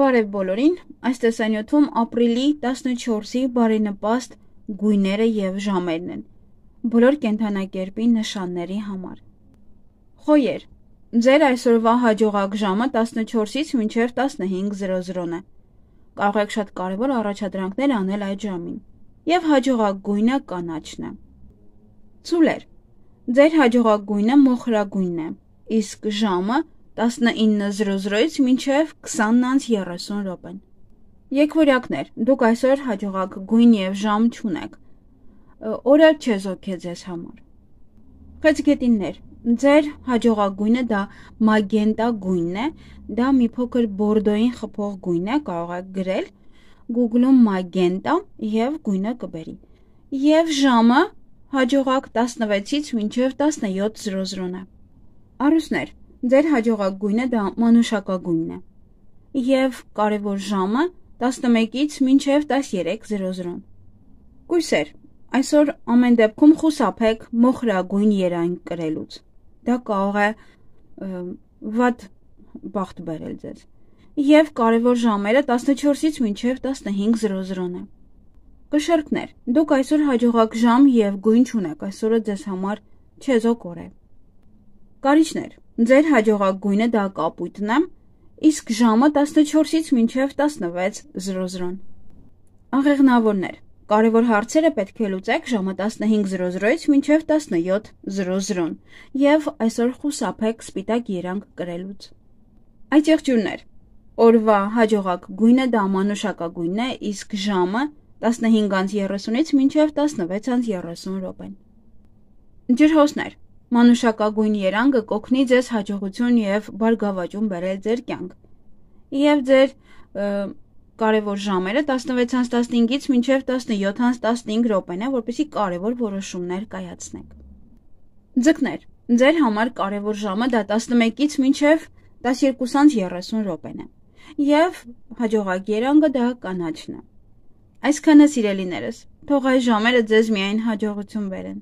Բարև բոլորին, այս տեսանյութում ապրիլի 14-ի բարենպաստ գույները և ժամերն են, բոլոր կենդանակերպի նշանների համար։ Խոյեր, ձեր այսօրվա հաջողակ ժամը 14-ից մինչև 15:00 է։ Կարող եք շատ կարևոր առաջադրանքներ անել այդ ժամին, և հաջողակ գույնը կանաչն է։ Ծուլեր, ձեր հաջողակ գույնը մոխրագույնն է, իսկ ժամը 19:00-ից մինչև 20:30 են։ Եկվորյակներ, դուք այսօր հաջողակ գույն և ժամ չունեք, օրը չեզոք է ձեզ համար։ Խեցգետիններ, ձեր հաջողակ գույնը դա մագենտա գույնն է, դա մի փոքր բորդոյին խփող գույն է, կարող եք գրել Google-ում մագենտա և գույնը կբերի։ Եվ ժամը հաջողակ 16-ից մինչև 17:00 է։ Առուսներ, ձեր հաջողակ գույնը դա մանուշակագույնն է, և կարևոր ժամը 11-ից մինչև 13:00։ Կույսեր, այսօր ամեն դեպքում խուսափեք մոխրագույն երանգ կրելուց, դա կարող է վատ բախտ բերել ձեզ, և կարևոր ժամերը 14-ից մինչև 15:00 է։ Կշեռքներ, դուք այսօր հաջողակ ժամ և գույն չունեք, այսօրը ձեզ համար չեզոք օր է։ Կարիճներ, ձեր հաջողակ գույնը դա կապույտն է, իսկ ժամը 14-ից մինչև 16:00։ Աղեղնավորներ, կարևոր հարցերը պետք է լուծեք ժամը 15:00-ից մինչև 17:00 և այսօր խուսափեք սպիտակ երանգ կրելուց։ Այծեղջյուրներ, օրվա հաջողակ գույնը դա մանուշակագույնն է, իսկ ժամը 15:30-ից մինչև 16:30 են։ Ջրհոսներ, մանուշակագույն երանգը կօգնի ձեզ հաջողություն և բարգավաճում բերել ձեր կյանք, և ձեր կարևոր ժամերը 16:15-ից մինչև 17:15 է, որպեսզի կարևոր որոշումներ կայացնեք։ Ձկներ, ձեր համար կարևոր ժամը դա 11-ից մինչև 12:30 է, և հաջողակ երանգը դա կանաչն է։ Այսքանը սիրելիներս, թող այս ժամերը ձեզ միայն հաջողություն բերեն։